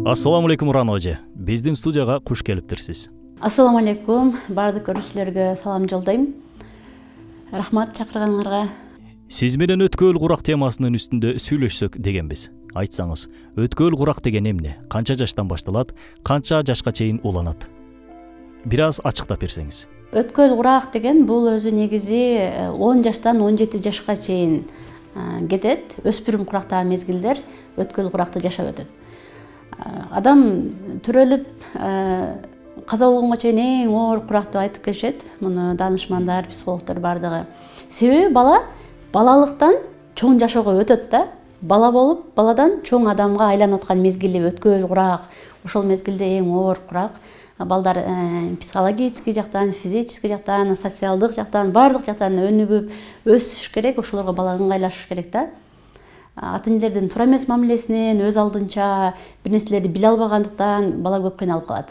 Ассаламу алейкум Уран эже. Биздин студияга куш келиптирсиз. Ассаламу алейкум. Бардык көрүүчүлөргө салам жолдойм. Рахмат чакырганыңарга. Сиз менен өткөл курак темасынын үстүндө сүйлөшсөк дегенбиз. Айтсаңыз, өткөл курак деген эмне? Канча жаштан башталат? Канча жашка чейин уланат? Бир аз ачыктап берсеңиз. Өткөл курак деген бул өзү негизи 10 жаштан 17 жашка чейин кетет. Өспүрүм курактагы мезгилдер өткөл куракта жашап өтөт. Адам төрөлүп каза болгонго чейин эң оор курак деп айтып келишет. Муну данышмандар, психологдор бардыгы. Себеби балалыктан чоң жашоого өтөт да. Бала болуп, баладан чоң адамга айланып аткан мезгили өткөл курак. Ошол мезгилде эң оор курак. Балдар психологический жактан, физический жактан, социалдык жактан, бардык жактан өнүгүп өсүш керек. Ошолорго бала ыңгайлашыш керек да. Ата энелердин туура эмес мамилесинен өз алдынча бир нерселерди биле албагандыктан бала көп кыйналып калат.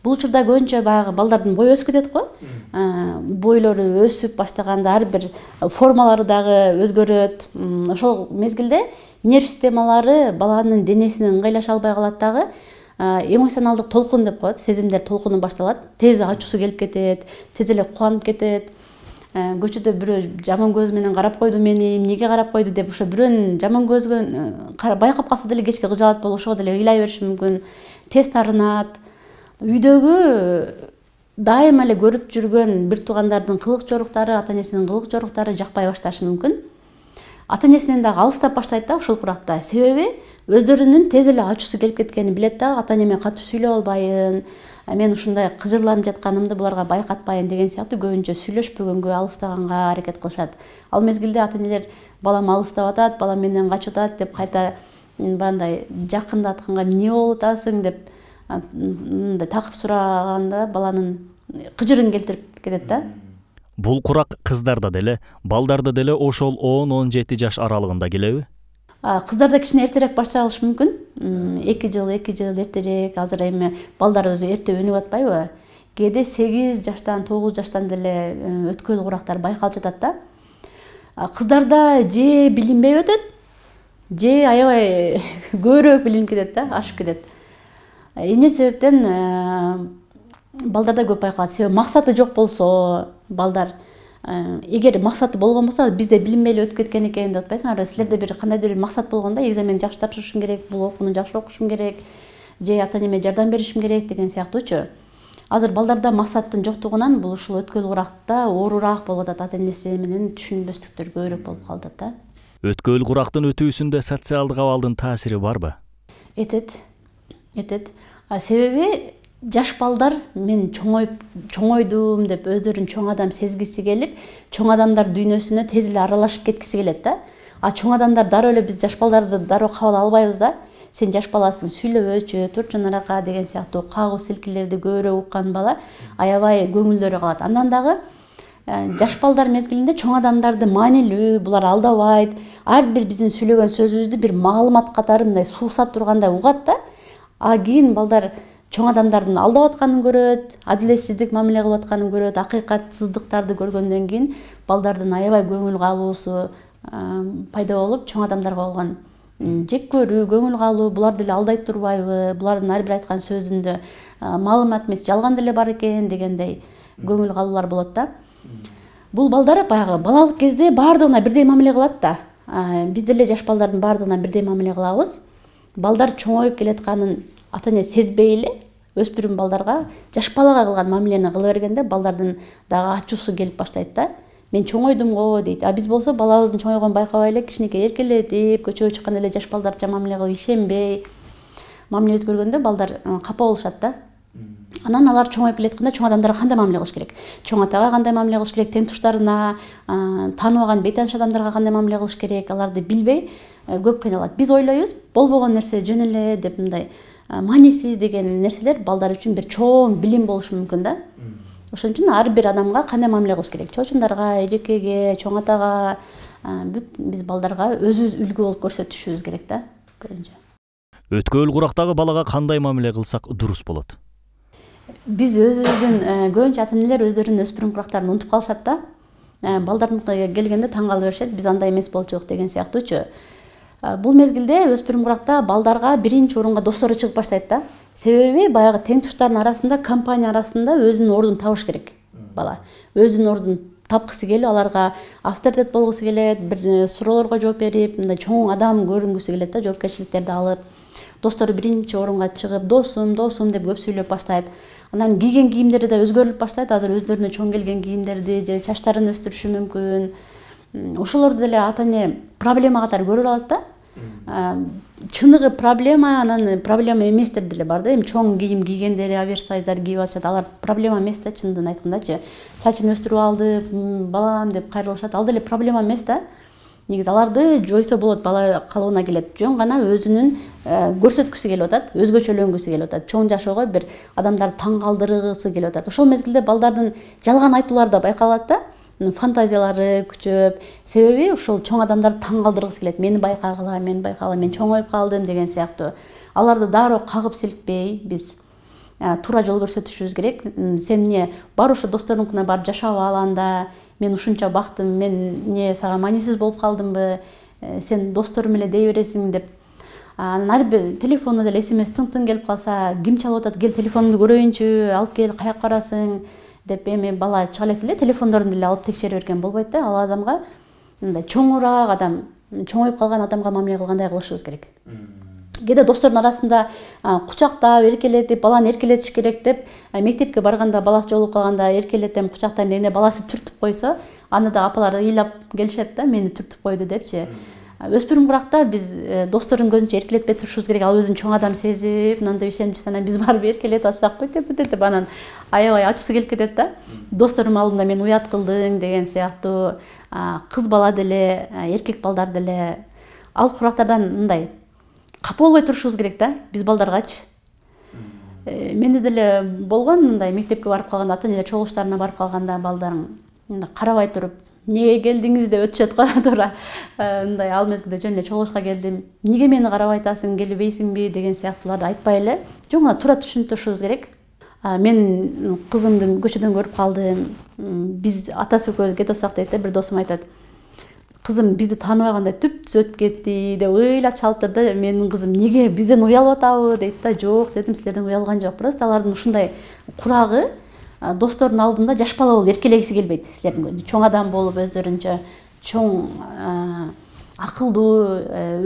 Бул учурда көбүнчө баягы балдардын бою өсүп кетет го. Бойлору өсүп баштаганда ар бир формалары дагы өзгөрөт. Ошол мезгилде нерв системалары баланын денесине ыңгайлаша албай калат дагы. Эмоционалдык толкун деп коет, сезимдер толкуну башталат. Тез ачуусу келип кетет, тез эле кубанып кетет. Көчөдө бирөө жаман көз менен карап койду мени, эмнеге карап койду деп ошо бирөөнүн жаман көзгө байкап калса деле кечке кыжаалат болуп ошого деле ыйлай бериши мүмкүн. Тез таарынат. Үйдөгү дайыма эле көрүп жүргөн бир туугандардын кылык жоруктары, ата энесинин кылык жоруктары жакпай башташы мүмкүн. Ата энесинен дагы алыстап баштайт да ушул куракта. Себеби өздөрүнүн тез эле ачуусу келип кеткенин билет да, ата энеме катуу сүйлөп албайын, мен ушундай кыжырланып жатканымды буларга байкатпайын деген сыяктуу көбүнчө сүйлөшпөгөнгө, алыстаганга аракет кылышат. Ал мезгилде ата энелер балам алыстап атат, балам менден качып атат деп кайта бандай жакындатканга эмне болуп атасың деп мындай такып сураганда баланын кыжырын келтирип кетет да. Бул курак кыздарда деле, балдарда деле ошол 10-17 жаш аралыгында келеби? Кыздарда кичине эртерээк башталышы мүмкүн. 2 жыл эртерээк. Азыр эми балдар өзү эрте өнүгүп атпайбы? Кээде 8 жаштан, 9 жаштан деле өткөл курактар байкалып жатат да. Кыздарда же билинбей өтөт, же аябай көбүрөөк билинип кетет да, ашып кетет. Эмне себептен балдарда көп байкалат? Себеби максаты жок болсо, балдар эгер максаты болгон болсо, бизде билинбей эле өтүп кеткен экен деп атпайсыңарбы? Силерде бир кандайдыр бир максат болгондо, экзамен жакшы тапшырышым керек, бул окууну жакшы окушум керек, же ата энеме жардам беришим керек деген сыяктуучу. Азыр балдарда максаттын жоктугунан бул ушул өткөл куракта оорураак болуп атат, ата энеси менен түшүнбөстүктөр көбүрөөк болуп калып атат да. Өткөл курактын өтүүсүндө социалдык абалдын таасири барбы? Этет. Себеби жаш балдар мен чоңойдум деп өздөрүн чоң адам сезгиси келип, чоң адамдар дүйнөсүнө тез эле аралашып кеткиси келет да. Чоң адамдар дароо эле биз жаш балдарды дароо кабыл албайбыз да. Сен жаш баласың, сүйлөбөчү, турчу нарака деген сыяктуу кагуу силкилерди көбүрөөк уккан бала аябай көңүлдөрү калат. Андан дагы жаш балдар мезгилинде чоң адамдарды маанилүү, булар алдабайт, ар бир биздин сүйлөгөн сөзүбүздү бир маалымат катары мындай суусап тургандай угат да. Кийин балдар чоң адамдардын алдап атканын көрөт, адилетсиздик мамиле кылып атканын көрөт, акыйкатсыздыктарды көргөндөн кийин балдардын аябай көңүл калуусу пайда болуп, чоң адамдарга болгон жек көрүү, көңүл калуу, булар деле алдай турбайбы, булардын ар бир айткан сөзүндө маалымат эмес, жалган деле бар экен дегендей көңүл калуулар болот да. Бул балдар баягы балалык кезде баардыгына бирдей мамиле кылат да. Биз деле жаш балдардын баардыгына бирдей мамиле кылабыз. Балдар чоңоюп келатканын ата эне сезбей эле өспүрүм балдарга жаш балага кылган мамилени кыла бергенде балдардын дагы ачуусу келип баштайт да. Мен чоңойдум го дейт. Биз болсо балабыздын чоңойгонун байкабай эле кичинекей эркелетип, көчөгө чыкканда эле жаш балдарча мамиле кылып ишенбей мамиле өткөргөндө балдар капа болушат да. Анан алар чоңоюп келатканда чоң адамдарга кандай мамиле кылыш керек? Чоң атага кандай мамиле кылыш керек? Тең туштарына, тааныбаган бейтааныш адамдарга кандай мамиле кылыш керек? Аларды билбей көп кыйналат. Биз ойлойбуз, болбогон нерсе жөн эле деп мындай маанисиз деген нерселер балдар үчүн бир чоң билим болушу мүмкүн да. Ошон үчүн ар бир адамга кандай мамиле кылыш керек? Чочундарга, эжекеге, чоң атага, биз балдарга өзүбүз үлгү болуп көрсөтүшүбүз керек да. Өткөл курактагы балага кандай мамиле кылсак дурус болот? Биз өзүбүздүн көбүнчө ата энелер өздөрүнүн өспүрүм курактарын унутуп калышат да. Балдардын келгенде таң калып беришет, биз андай эмес болчук деген сыяктуучу. Бул мезгилде өспүрүм куракта балдарга биринчи орунга достору чыгып баштайт да. Себеби баягы тең туштардын арасында, компания арасында өзүнүн ордун табыш керек бала. Өзүнүн ордун тапкысы келип, аларга авторитет болгусу келет, бир суроолорго жооп берип, мындай чоң адам көрүнгүсү келет да, жоопкерчиликтерди алып. Достору биринчи орунга чыгып, досум деп көп сүйлөп баштайт. Анан кийген кийимдери да өзгөрүлүп баштайт. Азыр өздөрүнө чоң келген кийимдерди же чачтарын өстүрүшү мүмкүн. Ошолорду деле ата эне проблема катары көрүп алат да. Чыныгы проблема, анан проблема эместер деле бар да. Эми чоң кийим кийгендери, оверсайздар кийип алышат. Алар проблема эмес да, чындыгын айткандачы. Чачын өстүрүп алды, балам деп кайрылышат. Ал деле проблема эмес да. Негизи аларды жойсо болот, бала калыбына келет. Жөн гана өзүнүн көрсөткүсү келип атат, өзгөчөлөнгүсү келип атат. Чоң жашоого бир адамдарды таң калтыргысы келип атат. Ошол мезгилде балдардын жалган айтуулары да байкалат да. Фантазиялары күчөп, себеби ошол чоң адамдарды таң калтыргысы келет. Мени байкагыла, мен чоңоюп калдым деген сыяктуу. Аларды дароо кагып силкпей, биз туура жол көрсөтүшүбүз керек. Сен эмне бар ошо досторуңкуна барып жашап ал анда, мен ушунча бактым, мен эмне сага маанисиз болуп калдымбы, сен досторум эле дей бересиң деп. Анан ар бир телефону деле SMS тың келип калса, ким чалып атат, кел телефонумду көрөйүнчү, алып кел, каяка барасың деп эми бала чыга элек эле телефондорун деле алып текшере берген болбойт да. Ал адамга мындай чоңураак адам, чоңоюп калган адамга мамиле кылгандай кылышыбыз керек. Кээде достордун арасында кучактап, эркелетип, баланы эркелетиш керек деп, мектепке барганда баласы жолугуп калганда эркелетем, кучактайм дегенде баласы түртүп койсо, аны да апалар ыйлап келишет да, мени түртүп койду депчи. Өспүрүм куракта биз достордун көзүнчө эркелетпей турушубуз керек. Ал өзүн чоң адам сезип, мындай ишенип жүрсө, анан биз барып эркелетип атсак, бүйтөп деп анан аябай ачуусу келип кетет да. Досторум алдында мен уят кылдың деген сыяктуу. Кыз бала деле, эркек балдар деле ал курактардан мындай капа болбой турушубуз керек да, биз балдаргачы. Менде деле болгон мындай мектепке барып калганда, ата энелер чогулуштарына барып калганда балдарым мындай карабай туруп, эмнеге келдиңиз деп өтүшөт го туура. Мындай ал мезгилде жөн эле чогулушка келдим, эмнеге мени карабай атасың, келбейсиңби деген сыяктууларды айтпай эле, жөн гана туура түшүнтүрүшүбүз керек. Мен кызымды көчөдөн көрүп калдым, биз атасы экөөбүз кетип атсак дейт да, бир досум айтат. Кызым бизди тааныбагандай түп-түз өтүп кетти деп ыйлап чалып тур да. Менин кызым эмнеге бизден уялып атабы дейт да. Жок дедим, силерден уялган жок. Просто алардын ушундай курагы достордун алдында жаш бала болуп эркелегиси келбейт. Силердин көзүндө чоң адам болуп өздөрүнчө чоң акылдуу,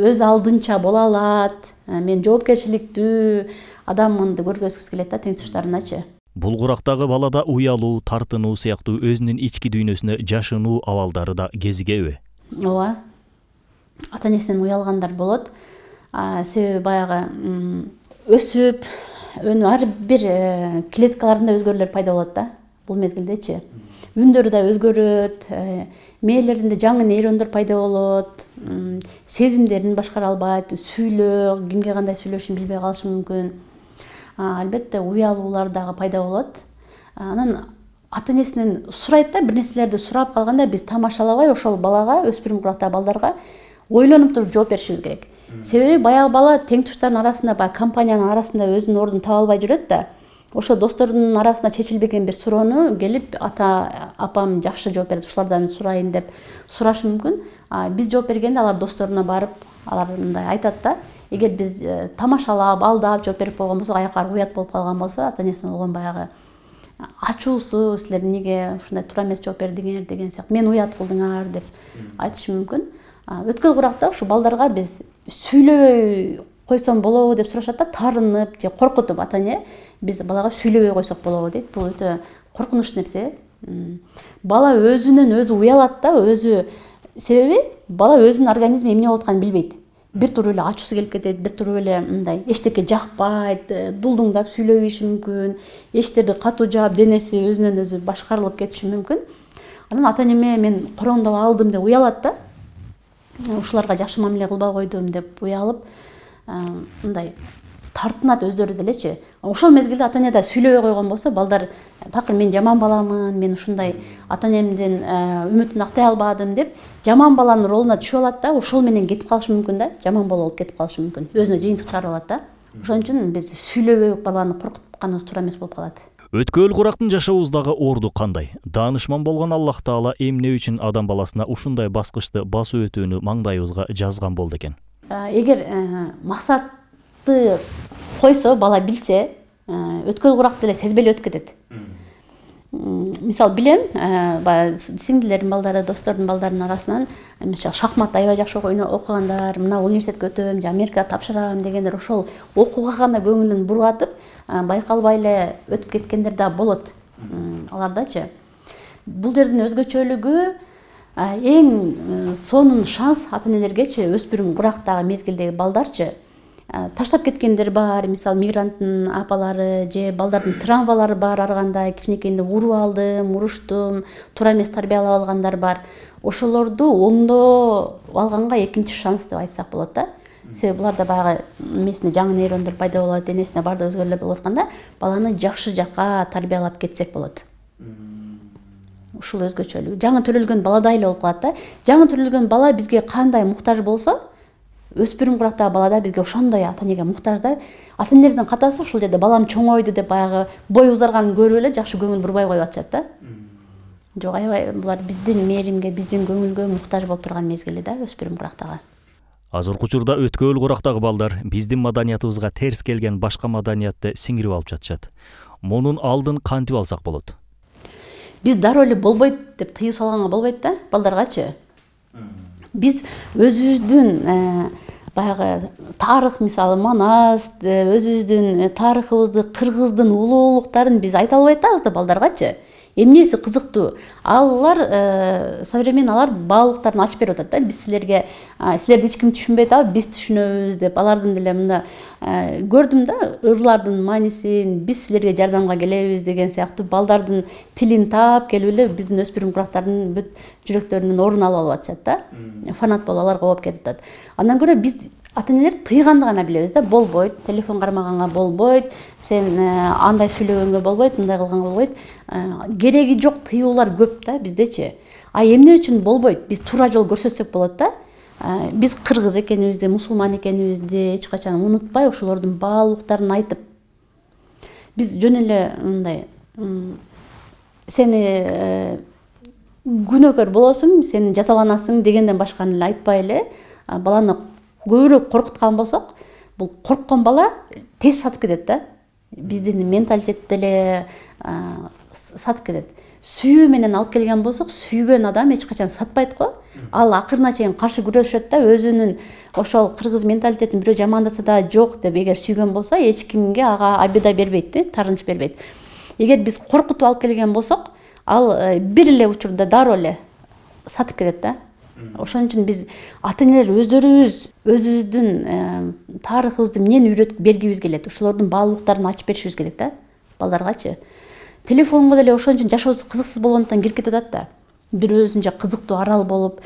өз алдынча боло алат. Мен жоопкерчиликтүү адаммын деп көргөзгүсү келет да тең туштарыначы. Бул курактагы балада уялуу, тартынуу сыяктуу өзүнүн ички дүйнөсүнө жашынуу абалдары да кезигеби? Ооба. Ата энесинен уялгандар болот. Себеби баягы өсүп, ар бир клеткаларында өзгөрүүлөр пайда болот да. Бул мезгилдечи. Үндөрү да өзгөрөт, мээлеринде жаңы нейрондор пайда болот, сезимдерин башкара албайт, сүйлөө, кимге кандай сүйлөшүшүн билбей калышы мүмкүн. Албетте уялуулар дагы пайда болот. Анан ата энесинен сурайт да, бир нерселерди сурап калганда биз тамашалабай ошол балага, өспүрүм курактагы балдарга ойлонуп туруп жооп беришибиз керек. Себеби баягы бала тең туштардын арасында, баягы компаниянын арасында өзүнүн ордун таба албай жүрөт да. Ошо достордун арасында чечилбеген бир суроону келип ата апам жакшы жооп берет, ушулардан сурайын деп сурашы мүмкүн. Биз жооп бергенде алар досторуна барып, алар мындай айтат да. Эгер биз тамашалап, алдап жооп берип койгон болсок, аяка уят болуп калган болсо, ата энесине болгон баягы ачуусу, силер эмнеге ушундай туура эмес жооп бердиңер деген сыяктуу, мен уят кылдыңар деп айтышы мүмкүн. Өткөл куракта ушу балдарга биз сүйлөбөй койсом болобу деп сурашат да, тарынып же коркутуп ата эне биз балага сүйлөбөй койсок болобу дейт. Бул өтө коркунуч нерсе. Бала өзүнөн өзү уялат да, себеби бала өзүнүн организми эмне болуп атканын билбейт. Бир туруп эле ачуусу келип кетет, бир туруп эле мындай эчтеке жакпайт, дулдуңдап сүйлөй бериши мүмкүн, эшиктерди катуу жаап, денеси өзүнөн өзү башкарылып кетиши мүмкүн. Анан ата энеме мен короңдоп алдым деп уялат да. Ушуларга жакшы мамиле кылбай койдум деп уялып, мындай тартынат өздөрү делечи. Ошол мезгилде ата эне да сүйлөбөй койгон болсо, балдар такыр мен жаман баламын, мен ушундай ата энемдин үмүтүн актай албадым деп жаман баланын ролуна түшүп алат да, ошол менен кетип калышы мүмкүн да, жаман бала болуп кетип калышы мүмкүн. Өзүнө жыйынтык чыгарып алат да. Ошон үчүн биз сүйлөбөй баланы коркутканыбыз туура эмес болуп калат. Өткөл курактын жашообуздагы орду кандай? Даанышман болгон Аллах Таала эмне үчүн адам баласына ушундай баскычты басып өтүүнү маңдайыбызга жазган болду экен? эгер максатты койсо, бала билсе, өткөл куракты эле сезбей эле өтүп кетет. Мисалы билем, баягы сиңдилердин балдары, достордун балдарынын арасынан шахмат аябай жакшы окугандар, мына университетке өтөм, же Америкага тапшырам дегендер, ошол окууга гана көңүлүн буруп атып, байкалбай эле өтүп кеткендер да болот. Алардачы. Бул жердин өзгөчөлүгү, эң сонун шанс ата-энелергечи, өспүрүм курактагы мезгилдеги балдарчы таштап кеткендер бар, мисалы мигранттын апалары же балдардын травмалары бар, ар кандай кичинекейинде уруп алдым, уруштум, туура эмес тарбиялап алгандар бар. Ошолорду оңдоп алганга экинчи шанс деп айтсак болот да. Себеби буларда баягы эмесинде жаңы нейрондор пайда болот, денесинде баардык өзгөрүүлөр болуп атканда, баланы жакшы жакка тарбиялап кетсек болот. Ушул өзгөчөлүгү. Жаңы төрөлгөн баладай эле болуп калат да. Жаңы төрөлгөн бала бизге кандай муктаж болсо, өспүрүм курактагы балада бизге ошондой ата-энеге муктаж да. Ата-энелердин катасы ушул жерде балам чоңойду деп баягы бой узарганын көрүп эле жакшы көңүл бурбай коюп атышат да. Жок, аябай булар биздин мээримге, биздин көңүлгө муктаж болуп турган мезгили да, өспүрүм курактагы. Азыркы учурда өткөл курактагы балдар биздин маданиятыбызга терс келген башка маданиятты сиңирип алып жатышат. Мунун алдын кантип алсак болот? Биз дароо эле болбойт деп тыюу салганга болбойт да, балдаргачы. Биз өзүбүздүн баягы тарых, мисалы Манас, өзүбүздүн тарыхыбызды, кыргыздын улуулуктарын биз айта албай атабыз да балдаргачы. Эмнеси кызыктуу? Алар современный баалуулуктарын ачып берип атат да. Биз силерди эч ким түшүнбөй атабы, биз түшүнөбүз деп, алардын деле мында көрдүм да, ырлардын маанисин, биз силерге жардамга келебиз деген сыяктуу балдардын тилин таап келип эле биздин өспүрүм курактардын бүт жүрөктөрүнүн ордун алып атышат да. Фанат болуп аларга ооп кетип атат. Андан көрө биз ата-энелер тыйганды гана билебиз да. Болбойт, телефон кармаганга болбойт, сен андай сүйлөгөнгө болбойт, мындай кылганга болбойт. Кереги жок тыюулар көп да биздечи. Эмне үчүн болбойт? Биз туура жол көрсөтсөк болот да. Биз кыргыз экенибизди, мусулман экенибизди эч качан унутпай, ошолордун баалуулуктарын айтып, биз жөн эле мындай сени күнөөкөр болосуң, сен жазаланасың дегенден башканы эле айтпай эле, баланы көбүрөөк коркуткан болсок, бул корккон бала тез сатып кетет да. Биздин менталитет деле сатып кетет. Сүйүү менен алып келген болсок, сүйгөн адам эч качан сатпайт го. Ал акырына чейин каршы күрөшөт да, өзүнүн ошол кыргыз менталитетин бирөө жамандаса да жок деп эгер сүйгөн болсо, эч кимге ага обида бербейт, тарынч бербейт. Эгер биз коркутуп алып келген болсок, ал бир эле учурда дароо эле сатып кетет да. Ошон үчүн биз ата-энелер өзүбүздүн тарыхыбызды эмнени үйрөтүп бергибиз келет, ошолордун баалуулуктарын ачып беришибиз керек да, балдаргачы. Телефонго деле ошон үчүн жашообуз кызыксыз болгондуктан кирип кетип атат да. Бир өзүнчө кызыктуу арал болуп,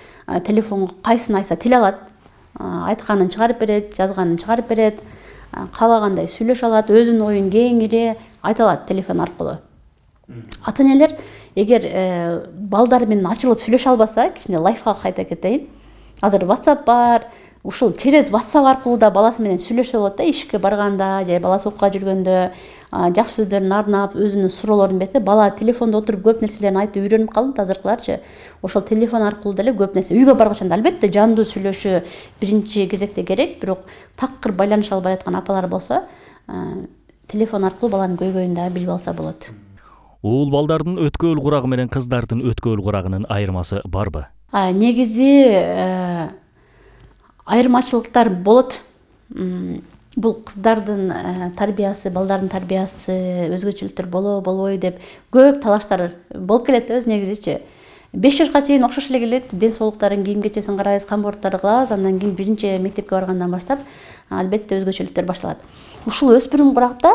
телефонго кайсын айтса тил алат, айтканын чыгарып берет, жазганын чыгарып берет, каалагандай сүйлөшө алат, өзүнүн оюн кеңири айта алат телефон аркылуу. Ата-энелер эгер балдар менен ачылып сүйлөшө албаса, кичине лайфхак айта кетейин. Азыр WhatsApp бар, ушул через WhatsApp аркылуу да баласы менен сүйлөшө болот да, ишке барганда же баласы окууга жүргөндө жакшы сөздөрүн арнап, өзүнүн суроолорун берсе, бала телефондо отуруп көп нерселерди айтып үйрөнүп калды азыркыларчы. Ошол телефон аркылуу деле көп нерсе үйгө баргачанда албетте жандуу сүйлөшүү биринчи кезекте керек, бирок такыр байланыша албай аткан апалар болсо, телефон аркылуу баланын көйгөйүн да билип алса болот. Уул балдардын өткөл курагы менен кыздардын өткөл курагынын айырмасы барбы? Негизи айырмачылыктар болот. Бул кыздардын тарбиясы, балдардын тарбиясы өзгөчөлүктөр болобойбу деп көп талаштар болуп келет өз негизичи. 5 жашка чейин окшош эле келет, ден соолуктарын, кийим кечесин карайбыз, камборттарды кылабыз, андан кийин биринчи мектепке баргандан баштап албетте өзгөчөлүктөр башталат. Ушул өспүрүм куракта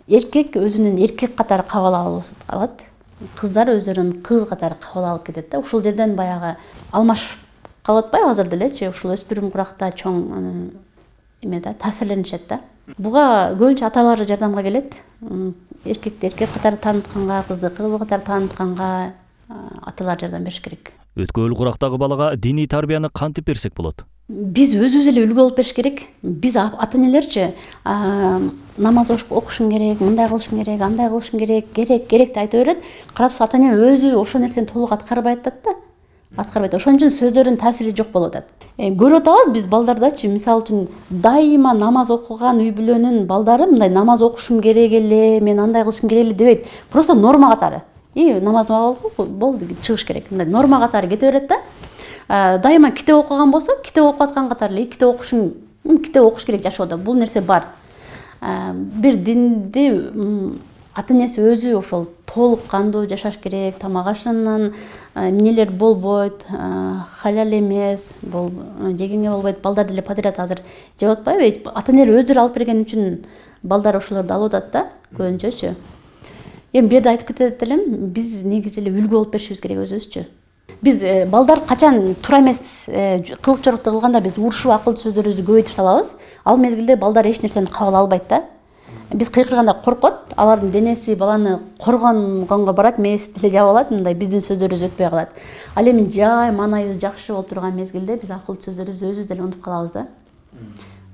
эркек өзүнүн эркек катары кабыл алып алат, кыздар өздөрүн кыз катары кабыл алып кетет да. Ушул жерден баягы алмашып калып атпайбы азыр делечи, ушул өспүрүм куракта чоң таасирленишет да. Буга көбүнчө аталары жардамга келет. Эркекти эркек катары таанытканга, кызды кыз катары таанытканга аталар жардам бериш керек. Өткөл курактагы балага диний тарбияны кантип берсек болот? Биз өзүбүз эле үлгү болуп бериш керек. Биз ата-энелерчи намаз окушуң керек, мындай кылышың керек, андай кылышың керек, керек деп айта берет. Карапсыз ата-эне өзү ошол нерсени толук аткарбай атат да. аткарбайт. Ошон үчүн сөздөрдүн таасири жок болуп атат. Көрүп атабыз биз балдардачы, мисалы үчүн дайыма намаз окуган үй бүлөнүн балдары мындай намаз окушум керек эле, мен андай кылышым керек эле дебейт. Просто норма катары. Намаз болду, чыгыш керек. Мындай норма катары кете берет да. Дайыма китеп окуган болсо, китеп окуп аткан катары эле китеп окуш керек жашоодо. Бул нерсе бар. Бир динди ата энеси өзү ошол толук кандуу жашаш керек, тамак ашынан эмнелер болбойт, халал эмес, жегенге болбойт. Балдар деле подряд азыр жеп атпайбы? Ата энелер өздөрү алып берген үчүн балдар ошолорду алып атат да, көбүнчөчү. Эми бу жерде айтып кетет элем, биз негизи эле үлгү болуп беришибиз керек өзүбүзчү. Биз балдар качан туура эмес кылык жорукту кылганда биз урушуп акыл сөздөрүбүздү көбөйтүп салабыз. Ал мезгилде балдар эч нерсени кабыл албайт да. Биз кыйкырганда коркот, алардын денеси баланы коргонгонго барат, мээси деле жабып алат, мындай биздин сөздөрүбүз өтпөй калат. Ал эми жай маанайыбыз жакшы болуп турган мезгилде биз акыл сөздөрүбүздү өзүбүз деле унутуп калабыз да.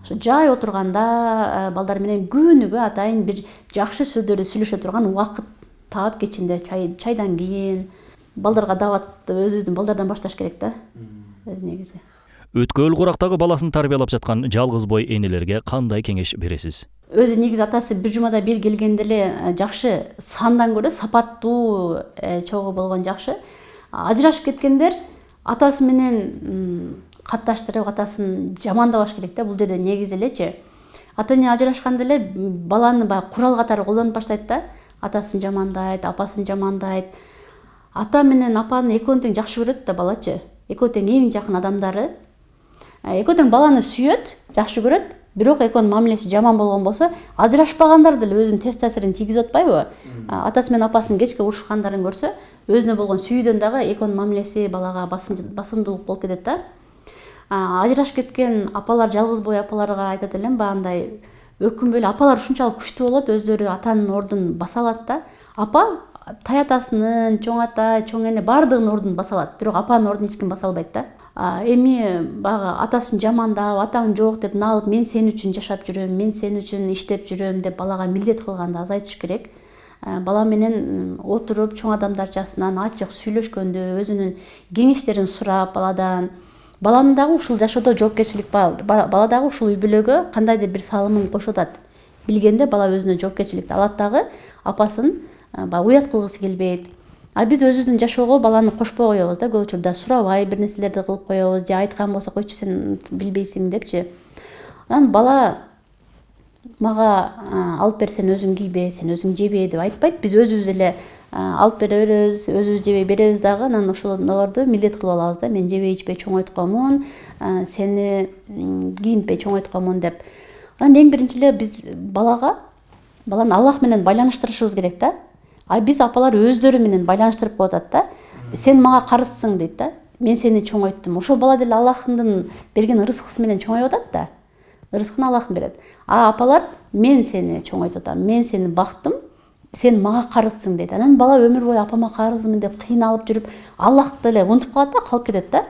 Ошо жай отурганда балдар менен күнүгө атайын бир жакшы сөздөрдү сүйлөшө турган убакыт таап кечинде чайдан кийин балдарга дааватты өзүбүздүн балдардан башташ керек да. Өз негизи. Өткөл курактагы баласын тарбиялап жаткан жалгыз бой энелерге кандай кеңеш бересиз? Өзү негизи атасы бир жумада бир келгенде эле жакшы сандан көрө сапаттуу чогуу болгон жакшы. Ажырашып кеткендер атасы менен катташтырып, атасын жамандабаш керек да. Бул жерде негизи элечи. Ата эне ажырашканда эле баланы баягы курал катары колдонуп баштайт да. Атасын жамандайт, апасын жамандайт. Ата менен апаны экөөнү тең жакшы көрөт да балачы. Экөө тең эң жакын адамдары. Экөө тең баланы сүйөт, жакшы көрөт. Бирок экөөнүн мамилеси жаман болгон болсо, ажырашпагандар деле өзүнүн терс таасирин тийгизип атпайбы? Атасы менен апасынын кечке урушкандарын көрсө, өзүнө болгон сүйүүдөн дагы экөөнүн мамилеси балага басымдуулук болуп кетет да. Ажырашып кеткен апалар, жалгыз бой апаларга айтат элем, баягындай өкүнбөй эле апалар ушунчалык күчтүү болот, өздөрү атанын ордун баса алат да. Апа тай атасынын, чоң ата, чоң эне баардыгынын ордун баса алат, бирок апанын ордун эч ким баса албайт да. Эми баягы атасын жамандап, атаң жок деп налып, мен сен үчүн жашап жүрөм, мен сен үчүн иштеп жүрөм деп балага милдет кылганды азайтыш керек. Бала менен отуруп, чоң адамдарчасынан ачык сүйлөшкөндө, өзүнүн кеңештерин сурап баладан, баланын дагы ушул жашоодо жоопкерчилик бар, бала дагы ушул үй бүлөгө кандайдыр бир салымын кошуп атат. Билгенде бала өзүнө жоопкерчиликти алат дагы, апасын уят кылгысы келбейт. Биз өзүбүздүн жашоого баланы кошпой коебуз да, көп учурда сурабай бир нерселерди кылып коебуз, же айткан болсо койчу сен билбейсиң депчи. Анан бала мага алып бер, сен өзүң кийбе, сен өзүң жебе деп айтпайт. Биз өзүбүз эле алып бере беребиз, өзүбүз жебей беребиз дагы, анан ошолорду милдет кылып алабыз да. Мен жебей ичпей чоңойтконмун, сени кийинтпей чоңойтконмун деп. Анан эң биринчи эле биз баланы Аллах менен байланыштырышыбыз керек да. Биз апалар өздөрү менен байланыштырып коюп атат да. Сен мага карызсың дейт да. Мен сени чоңойттум. Ошол бала деле Аллахтын берген ырыскысы менен чоңоюп атат да. Ырыскын Аллах берет. Апалар мен сени чоңойтуп атам, мен сени бактым, сен мага карызсың дейт. Анан бала өмүр бою апама карызмын деп кыйналып жүрүп, Аллахты эле унутуп калат да, калып кетет да.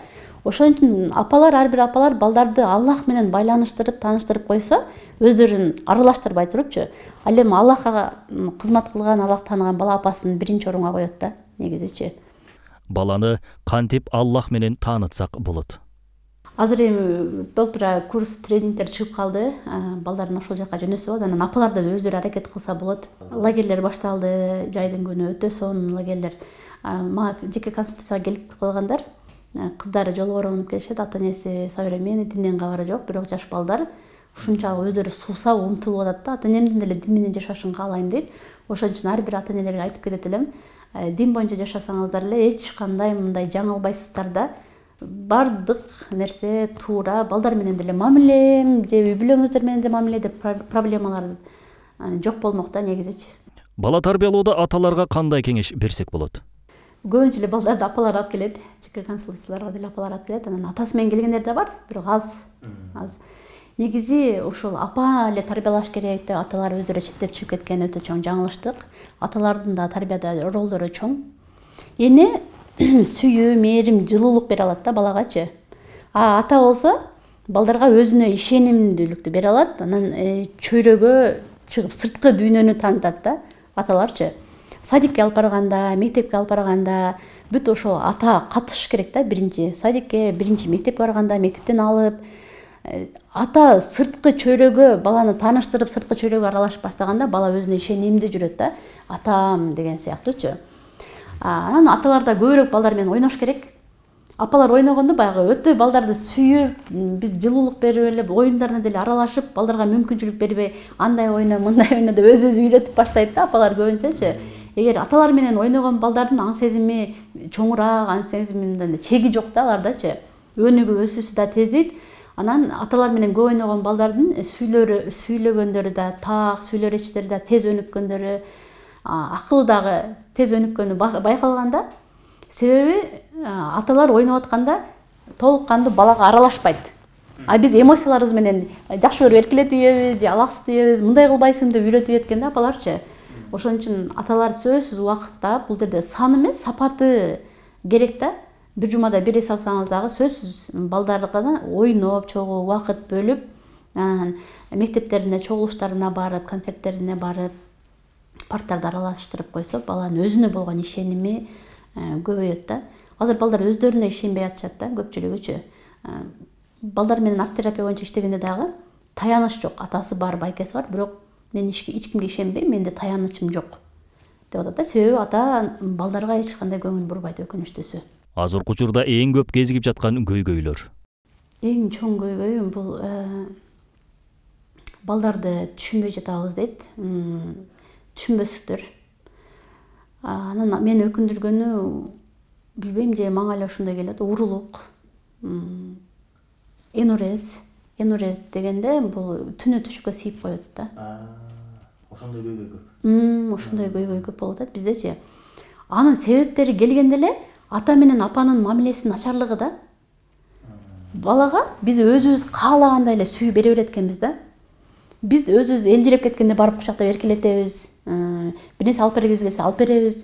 Ошон үчүн апалар, ар бир апалар балдарды Аллах менен байланыштырып, тааныштырып койсо, өздөрүн аралаштырбай турупчу, ал эми Аллахка кызмат кылган, Аллах тааныган бала апасын биринчи орунга коет да, негизичи. Баланы кантип Аллах менен таанытсак болот? Азыр эми толтура курс, тренингдер чыгып калды. Балдарын ошол жака жөнөсө болот. Анан апалар да өздөрү аракет кылса болот. Лагерлер башталды, жайдын күнү өтө сонун лагерлер. Мага жеке консультацияга келип калгандар, кыздары жолборон келишет, ата энеси современный, динден кабары жок, бирок жаш балдар ушунчалык өздөрү суусап умтулуп атат да. Ата энемдин деле дин менен жашашын каалайм дейт. Ошон үчүн ар бир ата энелерге айтып кетет элем, дин боюнча жашасаңыздар эле эч кандай мындай жаңылбайсыздар да. Бардык нерсе туура, балдар менен деле мамиле, же үй бүлөңүздөр менен деле мамиле деп проблемалар жок болмок да, негизичи. Бала тарбиялоодо аталарга кандай кеңеш берсек болот? Көбүнчө эле балдарды апалар алып келет, жеке консультацияларга деле апалар алып келет. Анан атасы менен келгендер да бар, бирок аз. Негизи ушул апа эле тарбиялаш керек деп аталар өздөрү четтеп чыгып кеткен өтө чоң жаңылыштык. Аталардын да тарбияда ролдору чоң. Эне сүйүү, мээрим, жылуулук бере алат да балагачы. Ата болсо балдарга өзүнө ишенимдүүлүктү бере алат. Анан чөйрөгө чыгып сырткы дүйнөнү таанытат да аталарчы. Садикке алып барганда, мектепке алып барганда бүт ошо ата катышыш керек да. Биринчи садикке, биринчи мектепке барганда мектептен алып, ата сырткы чөйрөгө баланы тааныштырып, сырткы чөйрөгө аралашып баштаганда бала өзүнө ишенимдүү жүрөт да. Атам деген сыяктуучу. Анан аталар да көбүрөөк балдар менен ойнош керек. Апалар ойногондо баягы өтө балдарды сүйүп, биз жылуулук берип эле, оюндарына деле аралашып, балдарга мүмкүнчүлүк бербей, андай ойно, мындай ойно деп өзү үйрөтүп баштайт да апалар көбүнчөчү. Эгер аталар менен ойногон балдардын аң сезими чоңураак, аң сезиминде чеги жок да алардачы. Өнүгүү, өсүүсү да тездейт. Анан аталар менен көп ойногон балдардын сүйлөгөндөрү да так, сүйлөр эчтери да тез өнүккөндөрү, акылы дагы тез өнүккөнү байкалганда. Себеби аталар ойноп атканда толук кандуу балага аралашпайт. Биз эмоцияларыбыз менен жакшы көрүп эркелетип ийебиз, же алаксытып ийебиз, мындай кылбайсың деп үйрөтүп ийет да апаларчы. Ошон үчүн аталар сөзсүз убакытта бул жерде сан эмес, сапаты керек да. Бир жумада бир эс алсаңыз дагы сөзсүз балдарга ойноп, чогуу убакыт бөлүп, мектептерине, чогулуштарына барып, концерттерине барып, парктарды аралаштырып койсо, баланын өзүнө болгон ишеними көбөйөт да. Азыр балдар өздөрүнө ишенбей атышат да, көпчүлүгүчү. Балдар менен арт терапия боюнча иштегенде дагы таяныч жок. Атасы бар, байкеси бар, бирок мен эч кимге ишенбейм, менде таянычым жок деп атат да. Себеби ата балдарга эч кандай көңүл бурбайт, өкүнүчтүүсү. Азыркы учурда эң көп кезигип жаткан көйгөйлөр. Эң чоң көйгөйүм бул балдарды түшүнбөй жатабыз дейт. Түшүнбөсүктөр. Анан мени өкүндүргөнү, билбейм, же мага эле ошондой келет, урулук. Энурез дегенде бул түнү түшүккө сийип коет да. Ошондой көйгөй көп. Ошондой көйгөй көп болуп атат биздечи. Анын себептери келгенде эле ата менен апанын мамилесинин начарлыгы да. Балага биз өзүбүз каалагандай эле сүйүү бере берет экенбиз да. Биз өзүбүз элжиреп кеткенде барып кучактап эркелетебиз. Бир нерсе алып бергибиз келсе алып беребиз.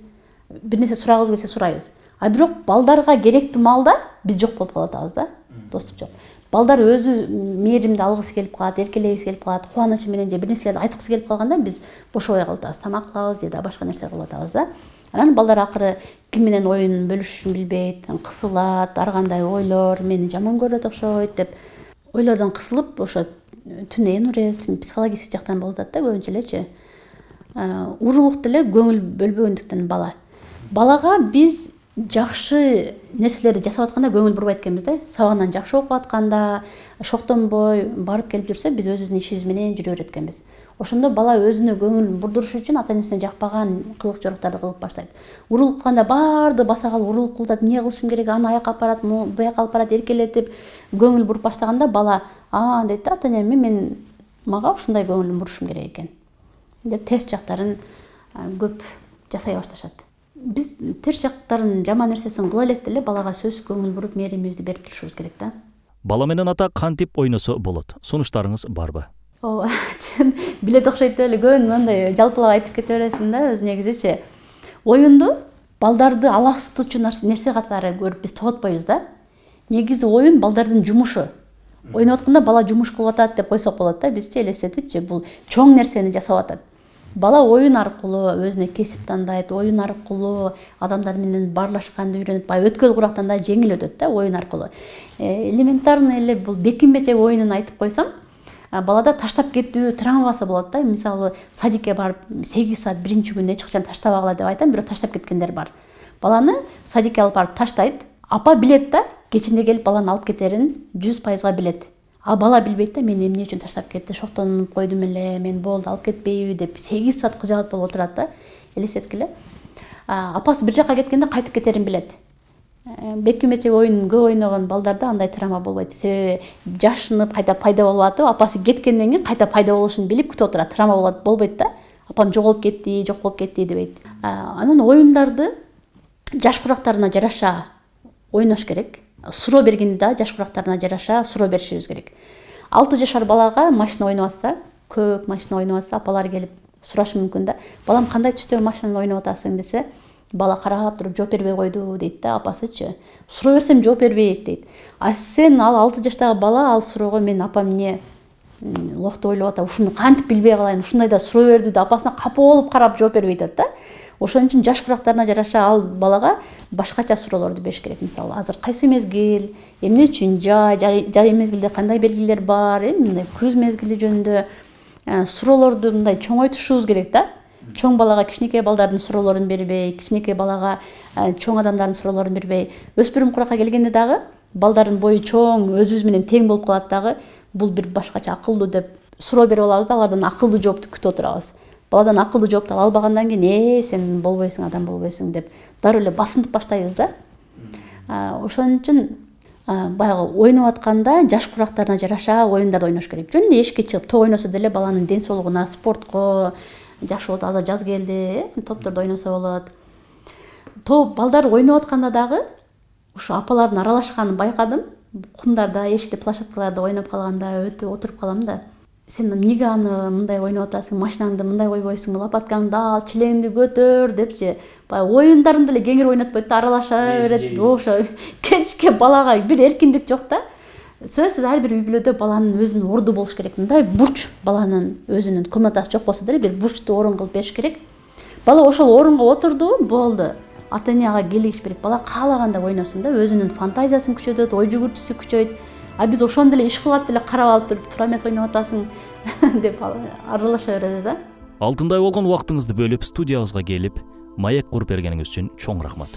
Бир нерсе сурагыбыз келсе сурайбыз. Бирок балдарга керектүү маалда биз жок болуп калып атабыз да. Доступ жок. Балдар өзү мээримди алгысы келип калат, эркелегиси келип калат, кубанычы менен же бир нерселерди айткысы келип калганда биз бошобой калып атабыз, тамак кылабыз же да башка нерсе кылып атабыз да. Анан балдар акыры ким менен оюн бөлүшүшүн билбейт, кысылат, ар кандай ойлор, мени жаман көрөт окшойт деп ойлордон кысылып, ошо түнү энурез, психологический жактан болуп атат да көбүнчө элечи. Урулук деле көңүл бөлбөгөндүктөн балага биз жакшы нерселерди жасап атканда көңүл бурбайт экенбиз да. Сабагынан жакшы окуп атканда, шоктонбой барып келип жүрсө, биз өзүбүздүн ишибиз менен жүрө берет экенбиз. Ошондо бала өзүнө көңүл бурдуруш үчүн ата энесине жакпаган кылык жоруктарды кылып баштайт. Урулук кылганда баарды баса калып урулук кылып атат, эмне кылышым керек, аны аяка алып барат, буяка алып барат, эркелетип көңүл буруп баштаганда бала дейт да, ата энеме мага ушундай көңүл бурушум керек экен деп терс жактарын көп жасай башташат. Биз терс жактарын, жаман нерсесин кыла электе эле балага сөзсүз көңүл буруп, мээримибизди берип турушубуз керек да. Бала менен ата кантип ойносо болот? Сунуштарыңыз барбы? Чын билет окшойт эле, көбүн мындай жалпылап айтып кете бересиң да, өзү негизичи. Оюнду балдарды алаксытуучу нерсе катары көрүп биз тоготпойбуз да. Негизи оюн балдардын жумушу. Ойноп атканда бала жумуш кылып атат деп койсок болот да, бизчи элестетипчи, бул чоң нерсени жасап атат. Бала оюн аркылуу өзүнө кесип тандайт, оюн аркылуу адамдар менен баарлашканды үйрөнөт, өткөл курактан да жеңил өтөт да оюн аркылуу. Элементарный эле бул бекинбечек оюнун айтып койсом, балада таштап кетүү травмасы болот да. Мисалы, садикке барып 8 саат биринчи күнү эч качан таштабагыла деп айтам, бирок таштап кеткендер бар. Баланы садикке алып барып таштайт, апа билет да, кечинде келип баланы алып кетерин 100% билет. Бала билбейт да, мен эмне үчүн таштап кетти, шоктонуп койдум эле, мен болду алып кетпейби деп 8 саат кыжаат болуп отурат да. Элестеткиле. Апасы бир жака кеткенде кайтып кетерин билет. Бекинбечек оюн көп ойногон балдарда андай травма болбойт. Себеби жашынып кайта пайда болуп атып, апасы кеткенден кийин кайта пайда болушун билип күтүп отурат. Травма болбойт да. Апам жоголуп кетти, жок болуп кетти дебейт. Анан оюндарды жаш курактарына жараша ойнош керек. Суроо бергенде да жаш курактарына жараша суроо беришибиз керек. 6 жашар балага машина ойноп атса, көк машина ойноп атса, апалар келип сурашы мүмкүн да. Балам кандай түстөгү машинаны ойноп атасың десе, бала карап туруп жооп бербей койду дейт да, апасычы. Суроо берсем жооп бербейт дейт. Сен ал 6 жаштагы бала ал суроого мен апам эмне лохту ойлоп атат, ушуну кантип билбей калайын, ушундай да суроо берди да, апасына капа болуп карап жооп бербей атат да. Ошон үчүн жаш курактарына жараша ал балага башкача суроолорду бериш керек. Мисалы, азыр кайсы мезгил, эмне үчүн жай мезгилде кандай белгилер бар, мындай күз мезгили жөнүндө суроолорду мындай чоңойтушубуз керек да. Чоң балага кичинекей балдардын суроолорун бербей, кичинекей балага чоң адамдардын суроолорун бербей, өспүрүм куракка келгенде дагы балдардын бою чоң, өзүбүз менен тең болуп калат дагы, бул бир башкача акылдуу деп суроо берип алабыз да, алардан акылдуу жоопту күтүп отурабыз. Баладан акылдуу жоопту ала албагандан кийин сен болбойсуң, адам болбойсуң деп дароо эле басынтып баштайбыз да. Ошон үчүн баягы ойноп атканда жаш курактарына жараша оюндарды ойнош керек. Жөн эле эшикке чыгып топ ойносо деле баланын ден соолугуна, спортко жакшы болот. Азыр жаз келди, топтордо ойносо болот. Топ балдар ойноп атканда дагы ушу апалардын аралашканын байкадым. Кумдарда, эшикте, площадкаларда ойноп калганда өтүп отуруп калам да. Сен эмнеге аны мындай ойноп атасың, машинаңды мындай койбойсуң, лопаткаңды ал, челеңди көтөр депчи. Баягы оюндарында эле кеңири ойнотпойт да, аралаша берет. Ошо кечке балага бир эркиндик жок да. Сөзсүз ар бир үй бүлөдө баланын өзүнүн орду болуш керек. Мындай бурч баланын өзүнүн комнатасы жок болсо деле бир бурчту орун кылып бериш керек. Бала ошол орунга отурду, болду. Ата-энеге келишиш керек. Бала каалаганда ойносун да, өзүнүн фантазиясын күчөтөт, ой жүгүртүүсү күчөйт. Биз ошондо эле иш кылып деле карап алып туруп, туура эмес ойноп атасың деп аралаша беребиз да. Алтындай болгон убактыңызды бөлүп, студиябызга келип, маек куруп бергениңиз үчүн чоң рахмат.